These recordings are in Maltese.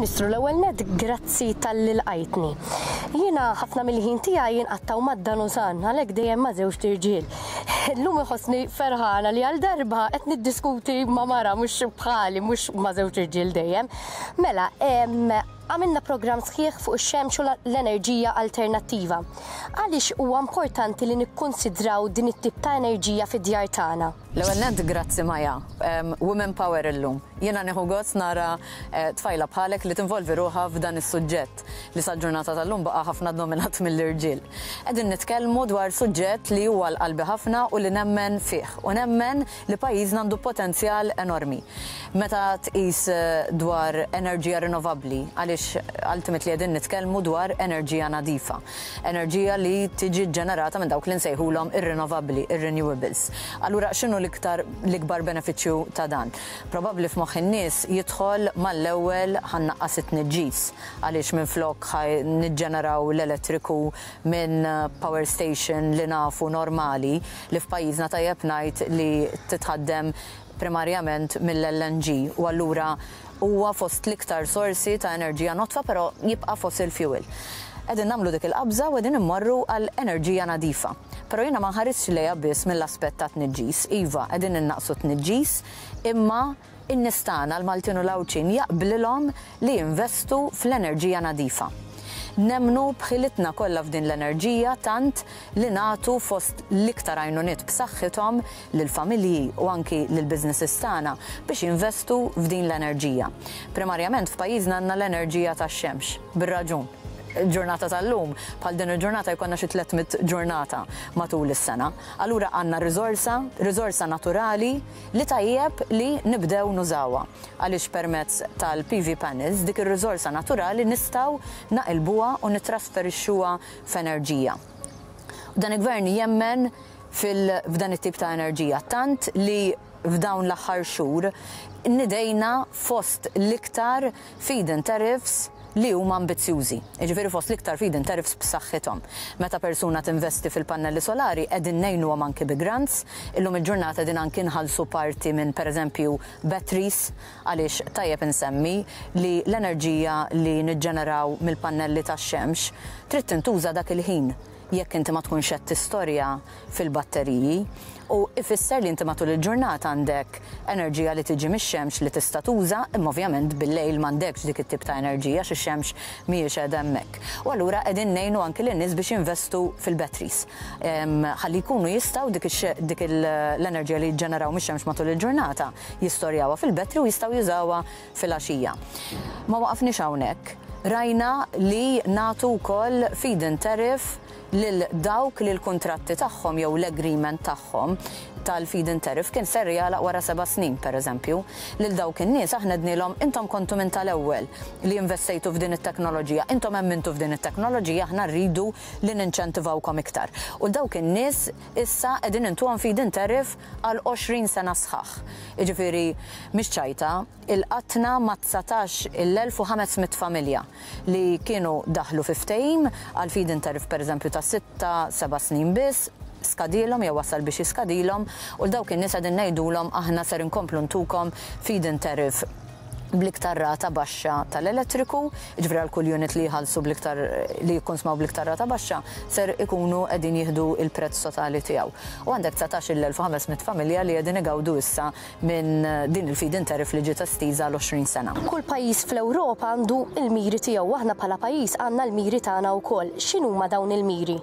Ministru, l-ewwel nett grazzi talli lqajtni. Jiena ħafna mill-ħin tiegħi inqattgħu mad-Danusan, għalhekk dejjem ma' żewġt irġiel. Illum inħossni ferħana li għal darba qed niddiskuti ma' mara mhux bħali, mhux ma' żewġt irġiel dejjem. Mela, għamilna programm sħiħ fuq ix-xemx u l-enerġija alternattiva. Għaliex huwa importanti li nikkunsidraw din it-tip ta' enerġija fid-djar tagħna? L-ewwel nett grazzi Maja. Women power illum. Jiena nieħu gost nara tfajla bħalek li tinvolvi ruħha f'dan is-suġġett li sal-ġurnata tal-lum baqa' ħafna dominat mill-irġiel. Qegħdin nitkellmu dwar suġġett li huwa għal qalbi ħafna u li nemmen fih u nemmen li pajjiżna għandu potenzjal enormi. Meta tqis dwar enerġija rinnovabbli, għaliex ultimately qegħdin nitkellmu dwar enerġija nadifa. Enerġija li tiġi ġġenerata minn dawk li nsejħulhom ir-rinnovabbli, ir-renewables. Allura x'inhu l-iktar l-ikbar benefiċċju ta' dan? Probabbli f'moħħ in-nies jidħol mal-ewwel ħa nnaqqas it-tniġġis għaliex minflok ħa niġġeneraw l-elettriku minn power station li nafu normali li f'pajjiżna tajjeb ngħid li titħaddem primarjament mill-LNG u allura huwa fost l-iktar sorsi ta' enerġija nodfa però jibqa' fossil fuel. Qegħdin nagħmlu dik il-qabża u qegħdin immorru għal enerġija nadifa. Però jiena ma nħarisx lejha biss mill-aspett ta' tniġġis. Iva, qegħdin innaqqsu t-tniġġis, imma in-nies tagħna, l-Maltin u l-Għawdxin, jaqblilhom li jinvestu fl-enerġija nadifa. Nemmnu b'ħilitna kollha f'din l-enerġija tant li nagħtu fost l-iktar għajnuniet b'saħħithom lill-familji u anki lill-businesses tagħna biex jinvestu f'din l-enerġija. Primarjament f'pajjiżna għandna l-enerġija tax-xemx, bir-raġun. Il-ġurnata tal-lum, bħal din il-ġurnata jkollna xi 300 ġurnata matul is-sena. Allura għandna riżorsa, riżorsa naturali li tajjeb li nibdew nużawha. Għaliex permezz tal-PV panels dik ir-riżorsa naturali nistgħu naqilbuha u nittrasferixxuha f'enerġija. Dan il-Gvern jemmen f'dan it-tip ta' enerġija tant li f'dawn l-aħħar xhur nidejna fost l-iktar feed-in tariffs li huma ambizzjużi, jiġifieri fost l-iktar feed-in tariffs b'saħħithom. Meta persuna tinvesti fil-pannelli solari qegħdin ngħinuhom anki bi grants, illum il-ġurnata qegħdin anki nħallsu parti minn pereżempju batteries għaliex tajjeb insemmi li l-enerġija li niġġeneraw mill-pannelli tax-xemx trid tintuża dak il-ħin jekk inti ma tkunx qed tistorja fil-batteriji u ifisser li inti matul il-ġurnata għandek enerġija li tiġi mix-xemx li tista' tuża imma ovvjament bil-lejl m'għandekx dik it-tip ta' enerġija għax ix-xemx mhijiex qiegħda hemmhekk. U allura qegħdin ngħinu anki lin-nies biex jinvestu fil-batteries ħalli jkunu jistgħu dik dik l-enerġija li jiġġeneraw mix-xemx matul il-ġurnata jistorjawha fil-battery u jistgħu jużawha filgħaxija. Ma waqafniex hawnhekk. Rajna li nagħtu wkoll feed-in tariff lil dawk li l-kuntratti tagħhom jew l-agreement tagħhom tal-feed-in tariff kien ser jagħlaq wara seba' snin, pereżempju. Lil dawk in-nies aħna għednielhom intom kontu minn tal-ewwel li investejtu f'din it-teknoloġija, intom emmintu f'din it-teknoloġija, aħna rridu li ninċentivawkom iktar. U 'l dawk in-nies issa qegħdin intuhom feed-in tariff għal 20 sena sħaħ. Jiġifieri mhix ċajta, ilqatna ma' 19,500 familja li kienu daħlu fi ftehim għal feed-in tariff pereżempju ta' sitta, seba' snin biss, skadielhom jew wasal biex jiskadilhom u 'l dawk in-nies qegħdin ngħidulhom aħna ser inkomplu ntukom feed-in tariff bl-iktar rata baxxa tal-elettriku, jiġifieri għal kull unit li jħallsu bl-iktar li jikkonsmaw bl-iktar rata baxxa ser ikunu qegħdin jieħdu l-prezz totali tiegħu. U għandek 19,500 familja li qegħdin igawdu issa minn din il-feed-in tariff li ġiet estiża għal 20 sena. Kull pajjiż fl-Ewropa għandu l-miri tiegħu u aħna bħala pajjiż għandna l-miri tagħna wkoll. X'inhuma dawn il-miri?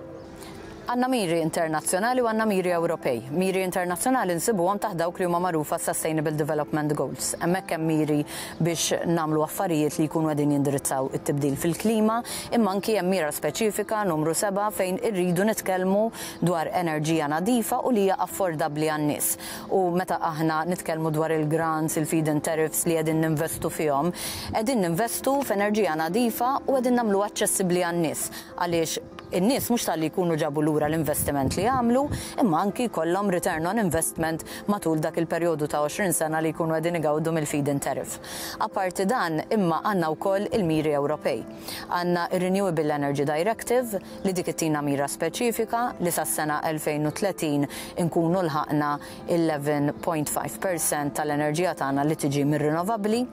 Għandna miri internazzjonali u għandna miri Ewropej. Miri internazzjonali nsibuhom taħt dawk li huma magħrufa Sustainable Development Goals. Hemmhekk hemm miri biex nagħmlu affarijiet li jkunu qegħdin jindirizzaw it-tibdil fil-klima, imma anki hemm mira speċifika numru 7 fejn irridu nitkellmu dwar enerġija nadifa u li hija affordabbli għan-nies. U meta aħna nitkellmu dwar il-grants, il-feed-in tariffs li qegħdin ninvestu fihom, qegħdin ninvestu f'enerġija nadifa u qegħdin nagħmluha aċċessibbli għan-nies għaliex. in-nies mhux talli jkunu ġabu lura l-investiment li għamlu, imma anki jkollhom return on investment matul dak il-perjodu ta' 20 sena li jkunu qegħdin igawdu mill-feed-in tariff. Apparti dan, imma għandna wkoll il-miri Ewropej. Għandna r-Renewable Energy Directive li dik ittina mira speċifika li sas-sena 2030 inkunu lħaqna 11.5 percent tal-enerġija tagħna li tiġi mir-rinnovabbli.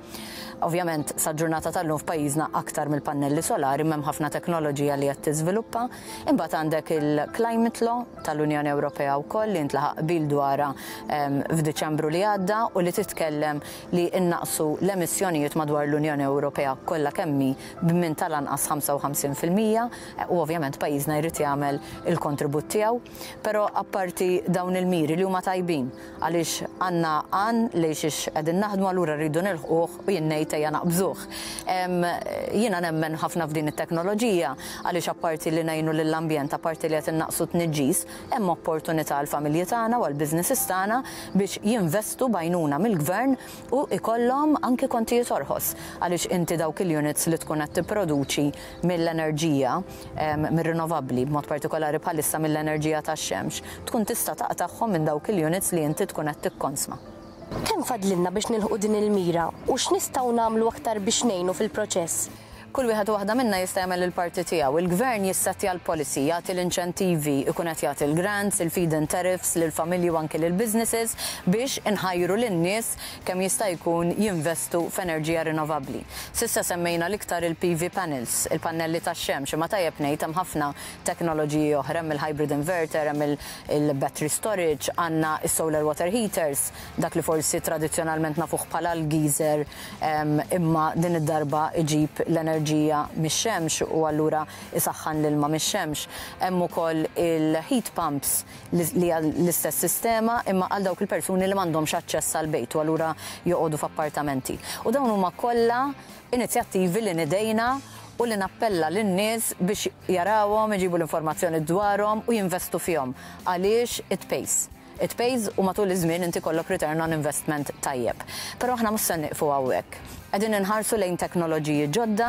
Ovvjament, sal-ġurnata tal-lum f'pajjiżna aktar mill-pannelli solari m'hemm ħafna teknoloġija li qed tiżviluppa. Imbagħad għandek il-Climate Law tal-Unjoni Ewropea wkoll li ntlaħaq qbil dwarha f'Diċembru li għadda u li titkellem li nnaqqsu l-emissjonijiet madwar l-Unjoni Ewropea kollha kemm hi b'minn tal-anqas 55% u ovvjament pajjiżna jrid jagħmel il-kontribut tiegħu. Però apparti dawn il-miri li huma tajbin, għaliex għandna għan lejn xiex qegħdin naħdmu allura rridu nilħquh u jien ngħid ejja naqbżuh. Jiena nemmen ħafna f'din it-teknoloġija għaliex apparti li ngħinu lill-ambjent, apparti li qed innaqqsu t-tniġġis, hemm opportunità għall-familji tagħna u għall-businesses tagħna biex jinvestu b'għajnuna mill-Gvern u jkollhom anki kontijiet orħos għaliex inti dawk il-units li tkun qed tipproduċi mill-enerġija mir-rinnovabbli, b'mod partikolari bħalissa mill-enerġija tax-xemx, tkun tista' taqtagħhom minn dawk il-units li inti tkun qed tikkonsma. Kemm fadlilna biex nilħqu din il-mira u x'nistgħu nagħmlu aktar biex ngħinu fil-proċess? Kull wieħed u waħda minna jista' jagħmel il-parti tiegħu. Il-Gvern jissettja l-policy, jagħti l-inċentivi, ikun qed jagħti l-grants, il-feed-in tariffs lill-familji u anki lill-businesses biex inħajru lin-nies kemm jista' jkun jinvestu f'enerġija rinnovabbli. S'issa semmejna l-iktar il-PV panels, il-pannelli tax-xemx, imma tajjeb ngħid hemm ħafna teknoloġiji oħra, hemm il-hybrid inverter, hemm il-battery storage, għandna s-solar water heaters, dak li forsi tradizzjonalment nafuh bħala l-geyser imma din id-darba iġib l-enerġija mix-xemx u allura isaħħan l-ilma mix-xemx. Hemm ukoll il-heat pumps li hija l-istess sistema imma għal dawk il-persuni li m'għandhomx aċċess għall-bejt u allura joqogħdu f'appartamenti. U dawn huma kollha inizjattivi li nidejna u li nappella lin-nies biex jarawhom, iġibu l-informazzjoni dwarhom u jinvestu fihom għaliex it pays. It pays u matul iż-żmien inti jkollok return on investment tajjeb. Però aħna mhux se nieqfu hawnhekk. Qegħdin inħarsu lejn teknoloġiji ġodda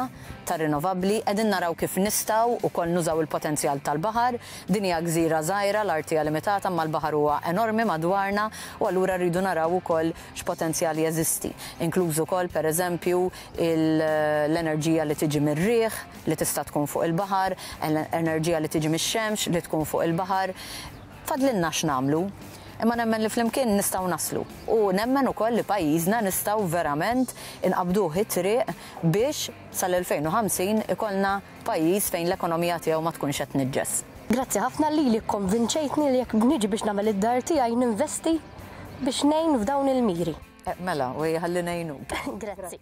ta' rinnovabbli, qegħdin naraw kif nistgħu wkoll nużaw il-potenzjal tal-baħar. Din hija gżira żgħira, l-art hija limitata imma l-baħar huwa enormi madwarna u allura rridu naraw ukoll x'potenzjal jeżisti. Inkluż ukoll pereżempju l-enerġija li tiġi mir-riħ li tista' tkun fuq il-baħar, enerġija li tiġi mix-xemx li tkun fuq il-baħar. Fadlilna x'nagħmlu, imma nemmen li flimkien nistgħu naslu. U nemmen ukoll li pajjiżna nistgħu verament inqabbduh it-triq biex sal-2050 ikollna pajjiż fejn l-ekonomija tiegħu ma tkunx qed tniġġes. Grazzi ħafna lili kkonvinċejtni li jekk niġi biex nagħmel id-dar tiegħi ninvesti biex ngħin f'dawn il-miri. Mela, u ejja ħalli ngħinuk. Grazzi.